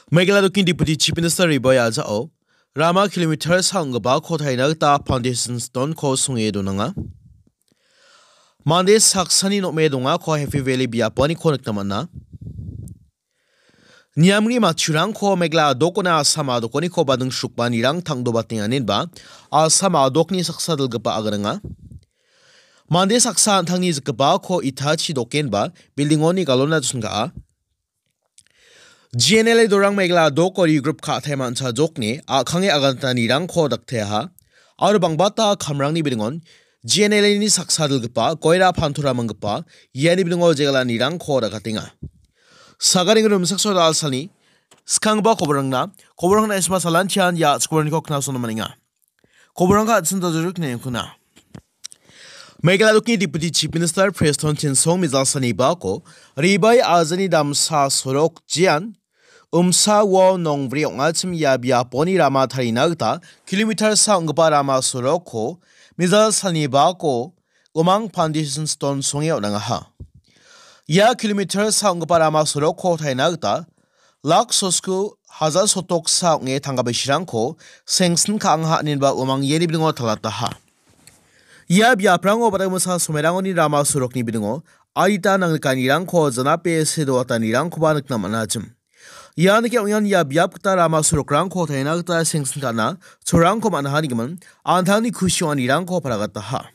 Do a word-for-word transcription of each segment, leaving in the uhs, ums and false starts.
Meghalaya dokni Deputy Chief Minister Ribai Ajao rama kilometer sa ong·gipako taina gita foundation stone-ko songe donanga. Mande saksani nokme dongako Happy Valley biaponiko nikna man·a. Niamri matchurangko Meghalaya dokona Assam a dokoniko bading srukba nirang tangdobatenganinba Assam a dokni saksa dilgipa agananga. Mande saksa an·tangni jikgipako itachi dokenba building-oni galona chonga·a. G N L A dorang Meghalaya doko regroup ka·taima an·chajokni a·kange agantanirangko dakteaha. Aro bangbata kamrangni bilingon G N L A-ni saksa dilgipa Goira Pantura manggipa iani bilingo jegalanirangko dakatenga. Sagaring rumsakso dalsalni skangba koborangna, koborangna isma salanchian ia chikoraniko knasona maninga. Koborangka atsin dajuruk nengkuna. Meghalaya dokni Deputy Chief Minister Prestone Tynsong mijalsani bako Ribai Ajani damsa sorok jean Umsa wo nongbri ong·achim ia biaponi rama tarina gita kilometer sa ong·gipa rama sorokko mijalsani bako umang foundation stone songe on·angaha. Ia kilometer sa ong·gipa rama sorokko taina gita lak sosku hajar sotoksa ong·e tangka bisirangko sengsin ka·angaha inenba umang iani bilingo talataha. Ia biaprango badamisa somerangoni rama sorokni bilingo adita nangnikanirangko janape see doatanirangkoba nikna man·achim. Ia nike ong·ian ia biap gita rama sorokrangko taina gita sengsin ka·na chorangko man·aha nigimin an·tangni kusi ong·anirangko paragataha.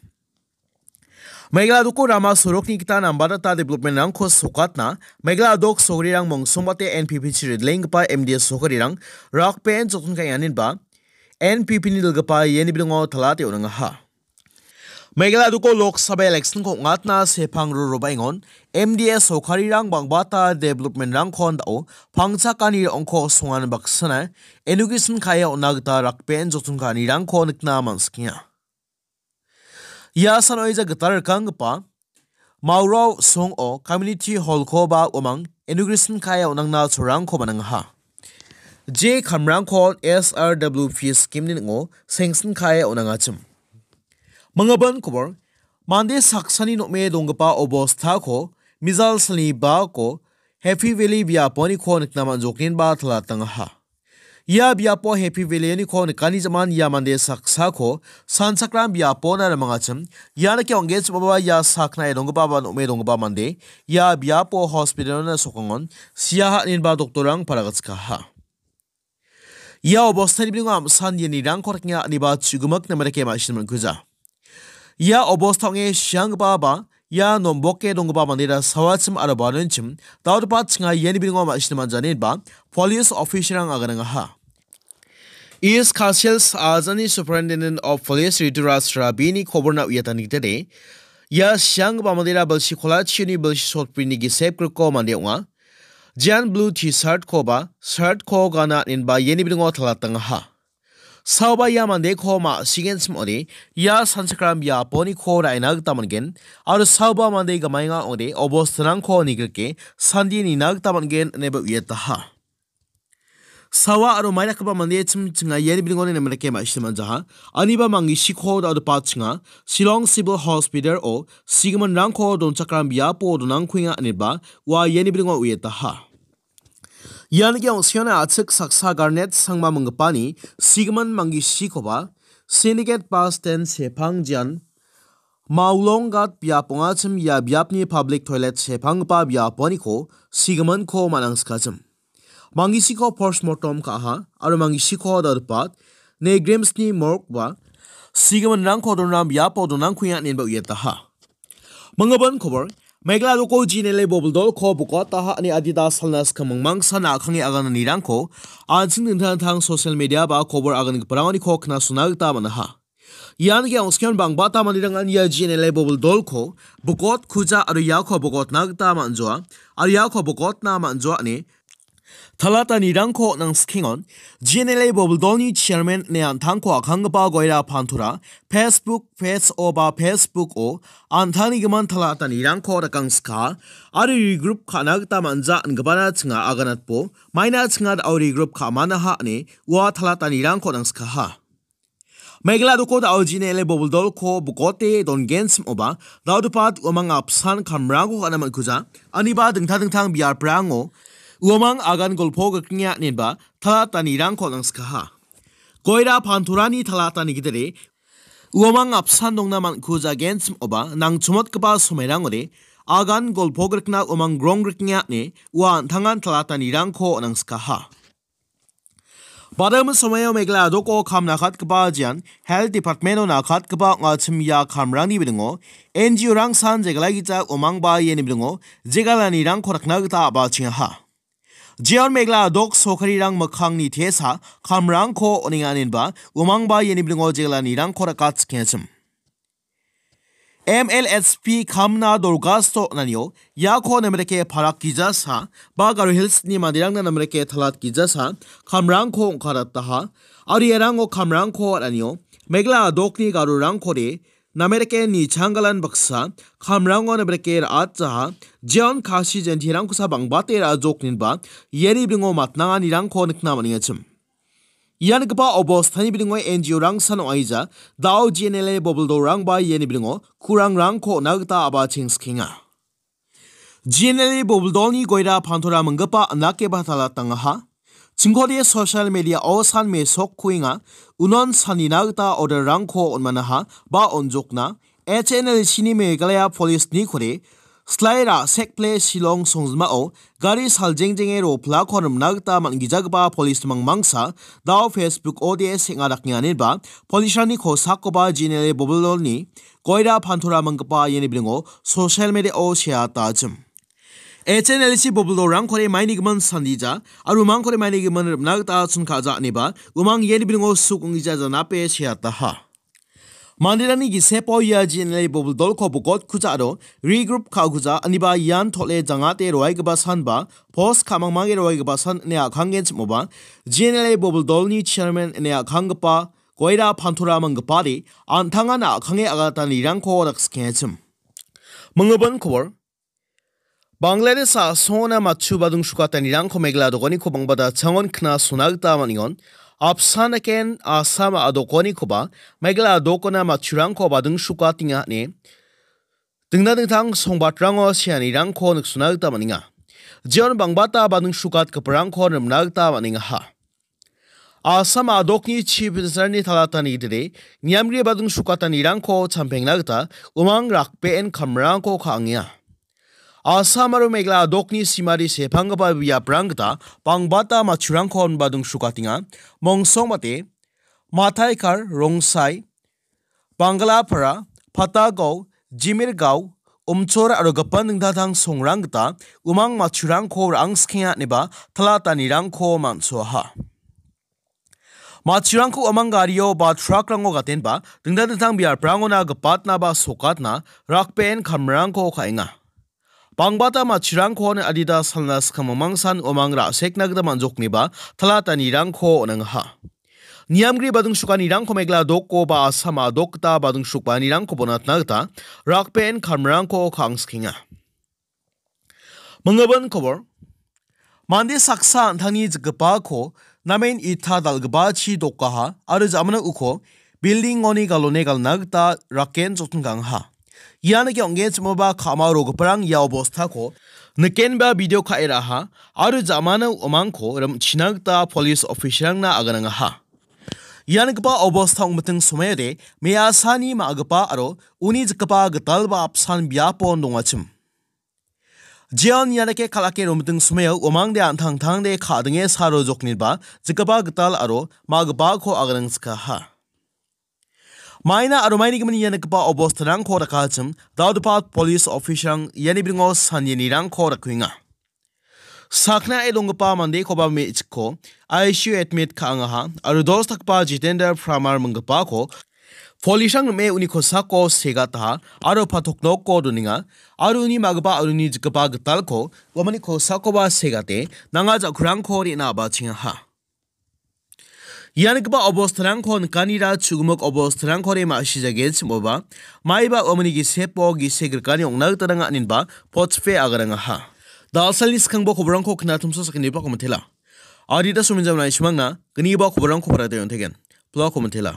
Meghalaya doko rama sorokni gita nambarata development-rangko sokatna Meghalaya dok sokrirang mongsongbate N P P-chi ridlenggipa M D A sokarirang rakben jotun ka·enganinba N P P-ni dilgipa iani bilingo talate on·angaha. Meghalaya doko Lok Sabha election-ko ong·atna sepang rorobaengon M D A sokarirang bangbata development-rangko andao pangchakani ong·ko songan baksana inauguration ka·e on·na gita rakben jotun ka·anirangko nikna man·sikenga. Ia sanoija gital rikanggipa Maurao song·o community hall-koba uamang inauguration ka·e on·angna cholrangko man·angaha. Je kamrangko S R W P scheme-ni ning·o sengsin ka·e on·angachim. Manggipan kobor, mande saksani nokme donggipa obostako mijal salni bako Happy Valley biaponiko nikna man·jokgenba talatangaha. Ia biapo Happy Valley-oniko nikani jaman ia mande saksako sanchakram biapona rimangachim. Ia nike ong·genchim ong·a ia saknae donggipa ba nokme donggipa mande ia biapo hospital-ona sokangon sia ha·ninba doktorrang paragatskaha. Ia obostani bilingo am·san ianirangko rikenga aniba chugimik namarake ma·sina man·kuja. Ia obosta ong·e sianggipa ba ia nomboke donggipa mandera sawachim aro baronchim dal·gipa chinga iani bilingo ma·sina man·jani inba police officer-rang aganangaha. East Khasi Hills Ajani Superintendent of Police Rituraj Rabini koborna uiatani gitade, ia sianggipa mandera bilsi kolachioni bilsi sotbrini gisep grikko mande ong·a. Jean blue T-shirt-koba shirt-ko gana inba iani bilingo talatangaha. Saoba ia mandeko ma·sigenchim ong·ode, ia sanchakram biaponiko ra·ina gita man·gen, aro saoba mande gamaenga ong·ode, obostarangko nigrike sandie nina gita man·gen, ineba uiataha. Sawa aro maidakgipa mande chim chinga iani bilingo nina mandake ma·sina man·jaha. Aniba mangisiko dal·gipa chinga, Shillong Civil Hospital-o sigiminrangko donchakram biapo donangkuenga ineba ua iani bilingo uiataha. Ian ge ong·siona a·chik saksa Garnet Sangma minggipani sigimin manggisikoba Syndicate Bus Stand sepangjian Maulonggat biap ong·achim ia biapni public toilet sepanggipa biaponiko sigiminko man·angsikachim. Mangisiko postmortem ka·aha aro mangisiko dal·gipa Negrimsni morgue-ba sigiminrangko donram biapo donangkuenga ineba uiataha. Manggipan kobor, Meghalaya doko G N L A bobeldolko bokataha ine adita salna skang mingmangsa na·a·kange agananirangko an·ching dingtang dingtang social media ba kobor agangiparangoniko knasona gita man·aha. Ian ge ong·sikan bangbata manderangan ia G N L A bobeldolko bokotkuja aro iako bokotna gita man·joa, aro iako bokotna man·joa ine talatanirangko on·angsikengon, G N L A bobeldolni chairman ine an·tangko a·kanggipa Goira Pantura Facebook page-o ba Facebook-o an·tangni gimin talatanirangko rikangska aro regroup ka·na gita man·ja ingipana chinga aganatbo maina chinga da·o regroup ka·manaha ine ua talatanirangko on·angskaha. Meghalaya doko da·o G N L A bobeldolko bokote dongenchim ong·oba, dal·gipa uamang apsan kamrangko ka·na man·kuja, aniba dingtang dingtang biaprango Uamang agan golpo grikringe anenba talatanirangko nangskaha. Goira pantorani talatani gidere uamang apsan dongna man·ku jagenchim oba nangchomotgipa somairangode agan golpo grikna uamang grong grikringe ane ua an·tangan talatanirangko nangskaha. Badam somaio Meghalaya doko kam nakatgipa jian Health Department-o nakatgipa ong·achim ia kamrangni bilingo N G O-rang san jegalagija uamangba iani bilingo jegalanirangko rakna gita a·bachengaha. Jeon Meghalaya dok sorkarirang mikkangni tesa kamrangko on·enga anenba uamangba iani bilingo jegalanirangko rakatskengachim. M L S P kamna dorgasto on·anio iako namreke parak gijasa ba Garo Hills-ni manderangna namreke talat gijasa kamrangko ong·karataha. Aro iarango kamrangko on·anio Meghalaya dokni garorangkode namreke nichanggalan baksa kamrango namreke ra·atjaha. Jeon Khasi Jaintirangkosa bangbate ra·jokninba iani bilingo matnanganirangko nikna man·engachim. Ia nikgipa obostani bilingo N G O-rangsan ong·aija, dao G N L A bobuldolrangba iani bilingo kurangrangko on·a gita a·bachengsikenga. G N L A bobuldolni goira pantora minggipa anake batalat dangaha. Chingkode social media-o san mesok kuenga, unon sanina gita order-rangko on·manaha ba on·jokna, H N L C-ni Meghalaya Police-ni kore, Slai ra·sekple Shillong songjinmao gari saljengjenge roplako rimna gita man·gijagipa police mangmangsa dao Facebook-ode seng·a dakenganiba police-rangni kosakoba G N L A bobuldolni goira pantora minggipa iani bilingo social media-o seatachim. H N L C bobuldolrangkode maini gimin sandija, aro umangkode maini gimin rimna gita chon ka·ja aniba, umang iani bilingo suk ong·gija janape seataha. Manderangni gisepo ia G N L A bobuldolko bokotkuja aro regroup ka·okuja aniba ian tole jangate roaigipa sanba post ka·mangmange roaigipa san ine a·kanggenchimoba G N L A bobuldolni chairman ine a·kanggipa goira pantora manggipade an·tangan a·kange agatanirangko dakskengachim. Minggipa kobor. Bangladesh a·songona matchu badung sukatanirangko Meghalaya dokaniko bangbata changon kna sona gita man·engon. Apsan aken Assam a dokanikoba Meghalaya dokona matchurangko badung sukatenga ine dingtang dingtang songbatrango seanirangko niksona gita man·enga. Jeon bangbata badung sukatgiparangko rimna gita man·engaha. Assam a dokni Chief Minister-ni talatani gidide niamgri badung sukatanirangko champengna gita umang rakbeen kamrangko ka·angenga. Assam aro Meghalaya dokni simari sepanggipa biaprang gita bangbata matchurangko badung sukatenga. Mongsongbate, Mataikar, Rongsai, Bangalapara, Patagao, Jimirgao, Umchor aro gipin dingtang dingtang songrang gita umang matchurangko ra·angsikenga ineba talatanirangko man·soaha. Matchurangko umang gario ba truck-rango gatenba dingtang dingtang biaprangona gipatna ba sokatna rakbeen kamrangko ka·enga. Bangbata matchurangko adita salna skang mangmangsan umang ra·sekna gita man·jokniba talatanirangko on·angaha. Niamgri badung sukanirangko Meghalaya doko ba Assam a dok gita badung sukanirangko bonatna gita rakbeen kamrangko ka·angsikenga. Minggipa kobor. Mande saksa an·tangni jikgipako namen ita dal·gipachi dokaha aro jamano uko building-oni galone galna gita raken jotengkangaha. Ian ong·genchimoba ka·ma rogiparang ia obostako nikenba video ka·e ra·aha aro jamano umangko rimchina gita police officer-rangna aganangaha. Ia nikgipa obosta ong·miting somoiode me·asani ma·gipa aro uni jikgipa gitalba apsan biapon dongachim. Jeon ianike kal·ake romiting somao uamangde an·tangtangde ka·dinge saro jokniba jikgipa gital aro ma·gipako aganangskaha. Maina aro maini gimin ia nikgipa obostarangko dakachim, Daodipat police officer-rang iani bringo sanyenirangko dakuenga. Saknae donggipa mandekoba me·chikko I C U admit ka·angaha aro dos dakgipa Jitendra Pramar minggipako police-rang rim·e uni kosako segataha aro patok noko donenga aro uni ma·gipa aro uni jikgipa gitalko uamangni kosakoba segate nanga ja·kurangko re·na a·bachengaha. Ia nikgipa obostarangko nikanira chu·gimik obostarangkode ma·sijagechim oba, maiba uamangni gisepo gisek rikani ong·na gita nanga aninba potspe agarangaha. Dalsalni skangbo koborangko knatumsa sakgniba komitela. Adita sominjam naisimangna gniba koborangko barate on·tegen. Pla komitela.